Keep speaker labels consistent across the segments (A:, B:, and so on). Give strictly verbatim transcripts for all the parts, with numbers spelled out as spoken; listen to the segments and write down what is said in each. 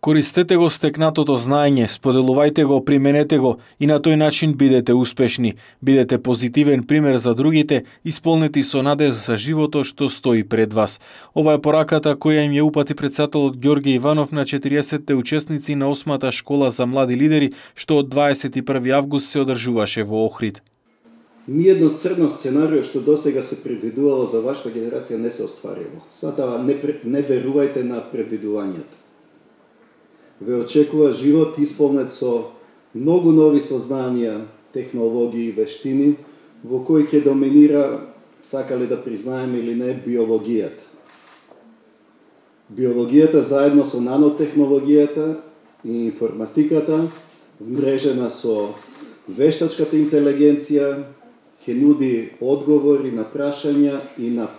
A: Користете го стекнатото знаење, споделувајте го, применете го и на тој начин бидете успешни. Бидете позитивен пример за другите, исполнети со надеж за животот што стои пред вас. Ова е пораката која им ја упати претседателот Ѓорѓе Иванов на четириесетте учесници на осмата школа за млади лидери, што од дваесет и први август се одржуваше во Охрид.
B: Ниедно црно сценарио што досега се предвидувало за вашата генерација не се остварило. Затоа не, не верувајте на предвидувањата. Ве очекува живот исполнет со многу нови сознанија, технологии и вештини, во кои ќе доминира, сакале да признаеме или не, биологијата. Биологијата заедно со нанотехнологијата и информатиката, вмрежена со вештачката интелигенција, ќе нуди одговори на прашања и на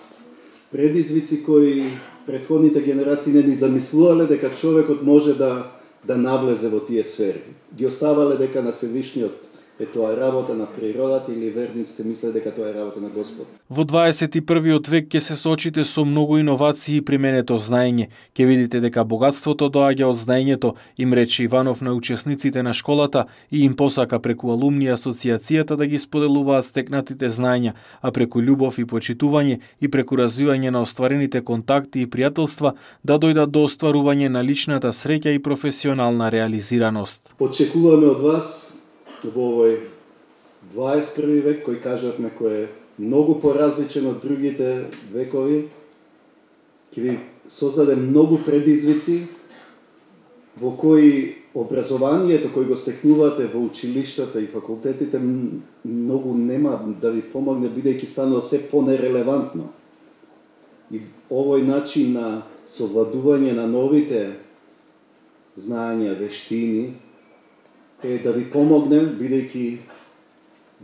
B: предизвици кои претходните генерации не ни замислувале дека човекот може да да навлезе во тие сфери. Ги оставале дека на Севишниот е тоа работа на природата или верниците мисле дека тоа е работа на Господ.
A: Во дваесет и првиот век ќе се соочите со многу иновации и применето знаење. Ќе видите дека богатството доаѓа од знаењето, им рече Иванов на учесниците на школата и им посака преку алумни асоциацијата да ги споделуваат стекнатите знаења, а преку љубов и почитување и преку развивање на остварените контакти и пријателства да дојдат до остварување на личната среќа и професионална реализираност.
B: Очекуваме од вас во овој дваесет и први век, кој кажавме кој е многу поразличен од другите векови, ќе ви создаде многу предизвици во кои образованието кој го стекнувате во училиштата и факултетите многу нема да ви помогне, бидејќи станува се понерелевантно. И овој начин на совладување на новите знаења, вештини е да ви помогне, бидејќи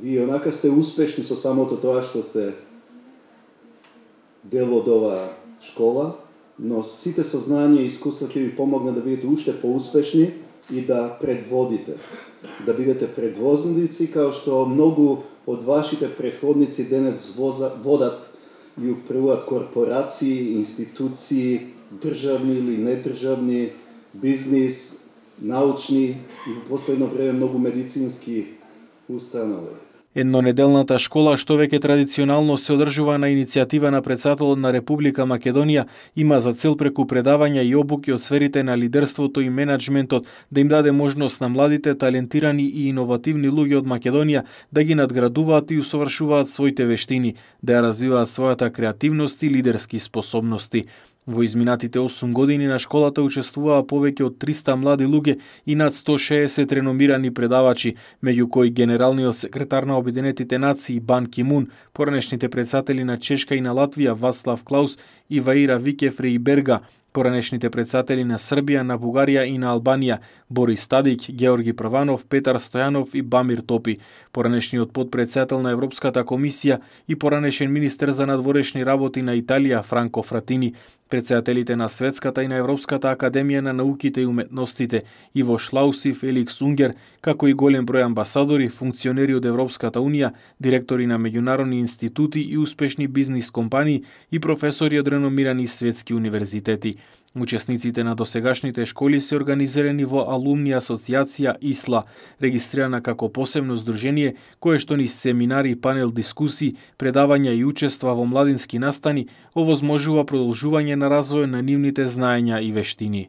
B: вие онака сте успешни со самото тоа што сте дел од оваа школа, но сите сознанија и искуства ќе ви помогне да бидете уште поуспешни и да предводите. Да бидете предвозници, као што многу од вашите предходници денес водат и управуваат корпорации, институции, државни или недржавни, бизнис, научни и во последно време многу медицински установи.
A: Еднонеделната школа, што веќе традиционално се одржува на иницијатива на претседателот на Република Македонија, има за цел преку предавања и обуки од сферите на лидерството и менаџментот да им даде можност на младите, талентирани и иновативни луѓе од Македонија да ги надградуваат и усовршуваат своите вештини, да ја развиваат својата креативност и лидерски способности. Во изминатите осум години на школата учествуваа повеќе од триста млади луѓе и над сто шеесет реномирани предавачи, меѓу кои генералниот секретар на Обединетите нации Бан Ки Мун, поранешните претседатели на Чешка и на Латвија Вацлав Клаус и Ваира Викефреиберга, поранешните претседатели на Србија, на Бугарија и на Албанија Борис Тадик, Георги Прванов, Петар Стојанов и Бамир Топи, поранешниот подпредседател на Европската комисија и поранешен министер за надворешни работи на Италија Франко Фратини, претседателите на Светската и на Европската академија на науките и уметностите Иво Шлауси, Феликс Унгер, како и голем број амбасадори, функционери од Европската унија, директори на меѓународни институти и успешни бизнис компании и професори од реномирани светски универзитети. Учесниците на досегашните школи се организирани во Алумни асоциација ИСЛА, регистрирана како посебно здружение кое што низ семинари, панел дискусии, предавања и учества во младински настани овозможува продолжување на развој на нивните знаења и вештини.